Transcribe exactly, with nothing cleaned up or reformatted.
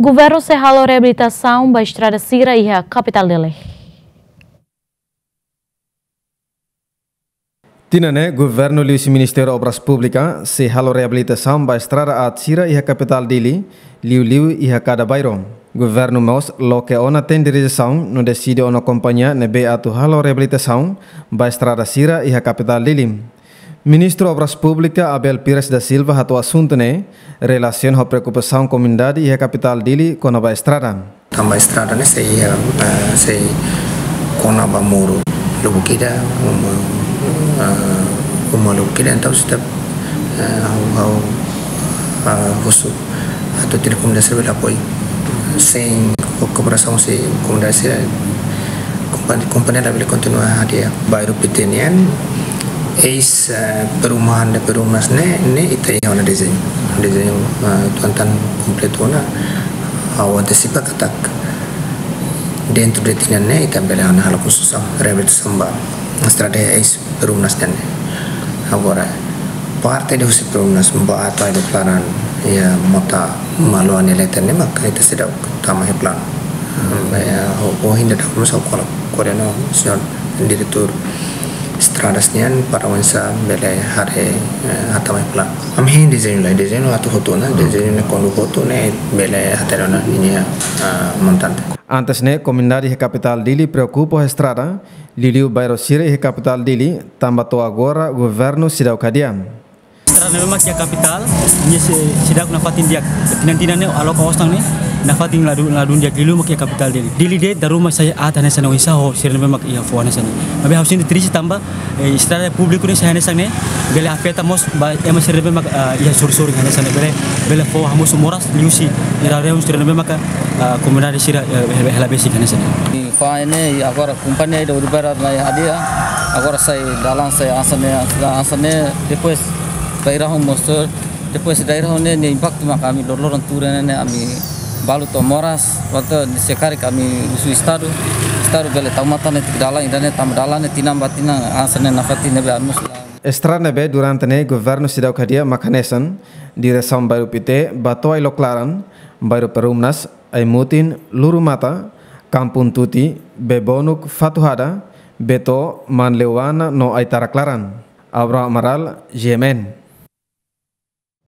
Governu sei halo reabilitasaun ba estrada sira iha kapitál Dili. Tinan ne'e, Governu liuhusi Ministériu Obras Públikas sei halo reabilitasaun ba estrada aat sira iha kapitál Dili, liuliu iha kada bairru. Governu mós loke ona tendereza no deside ona kompañia ne'ebé atu halo reabilitasaun ba estrada sira iha kapitál Dili. Ministru Obras Públikas Abel Pires da Silva hato'o asuntu ne'e relasiona ho preokupasaun komunidade iha kapitál Dili kona-ba estrada. Tanba estrada ne'e sei, eh, sei kona-ba muru lubuk ida, uma, eh, uma lubuk ida, entaun setiap, eh, ha'u, ha'u, eh, husu atu tinan komunidade sira bele apoiu. Sein ko-, kooperasaun husi komunidade sira, kompa-, kompañia labele kontinua hadi'a. Bairru Pité nian, eis, eh, perumahan de Perumnas ne'e, ne'e ita iha ona dezeñu. Dezeñu, eh, atu atan kompletu ona, ha'u antesipa katak dentru de tinan ne'e ita bele halo konstrusaun, reabilitasaun ba estrada eis Perumnas nian ne'e. Agora, parte de husi Perumnas ba to'o Ailoklaran, iha mota Maluani Leten ne'e mak ita seidauk tama iha planu. Hmm, ya, ho, ho hinda da masa kola, koordena señór diretór estradas nian para oinsá bele haree, eh, hatama iha planu. Ami hein dezeñu lai, dezeñu atu hotu ona, dezeñu ne'e kuandu hotu ne'e bele hatene ona ninia, ah, montante. Antes ne'e, komunidade iha kapitál Dili preokupa ho estrada, liuliu bairru sira iha kapitál Dili, tanba to'o agora governu seidauk hadi'a. Estrada ne'ebé mak iha kapitál, nia sei, seidauk nafatin di'ak. Tinan-tinan ne'e, aloka osan ne'e, nafatin ladún, ladún di'ak, liuliu mak iha kapitál Dili. Dili de'it dala ruma sai aat hanesan ne'e, oinsá ho sira ne'ebé mak iha foho hanesan ne'e. Maibé ha'u sente triste tanba, eh, estrada públiku ne'e sai hanesan ne'e, bele afeta mós ba ema sira ne'ebé mak, ah, iha sorin-sorin hanesan ne'e, bele, bele fó hamosu moras, liuhusi irarreun sira ne'ebé mak, ah, komunidade sira, eh, hela, hela besik hanesan ne'e. Fa'an ne'e, agora kompañia ida Uri Barat mai hadi'a, agora sai dalan sai hanesan ne'e, hanesan ne'e, depois daerah mós, depois daerah ne'e, ne'e impaktu mak ami loroloron tuur ne'e, ne'e ami balu to'o moras, waktu se karik ami husu estadu, estadu bele tau matan ne'e tiha dalan, ida-ne'e tanba dalan ne'e tinan ba tinan, hanesan ne'e nafatin ne'ebé ami husu. Estrada ne'ebé durante ne'e governu seidauk hadi'a mak hanesan, diresaun bairru Pité ba to'o Ailoklaran, bairru Perumnas, Aimutin, Lurumata, Kampung Tuti, Bebonuk, Fatuhada, Beto, Manleuana no Aitaraklaran. Abraham Amaral, G M N.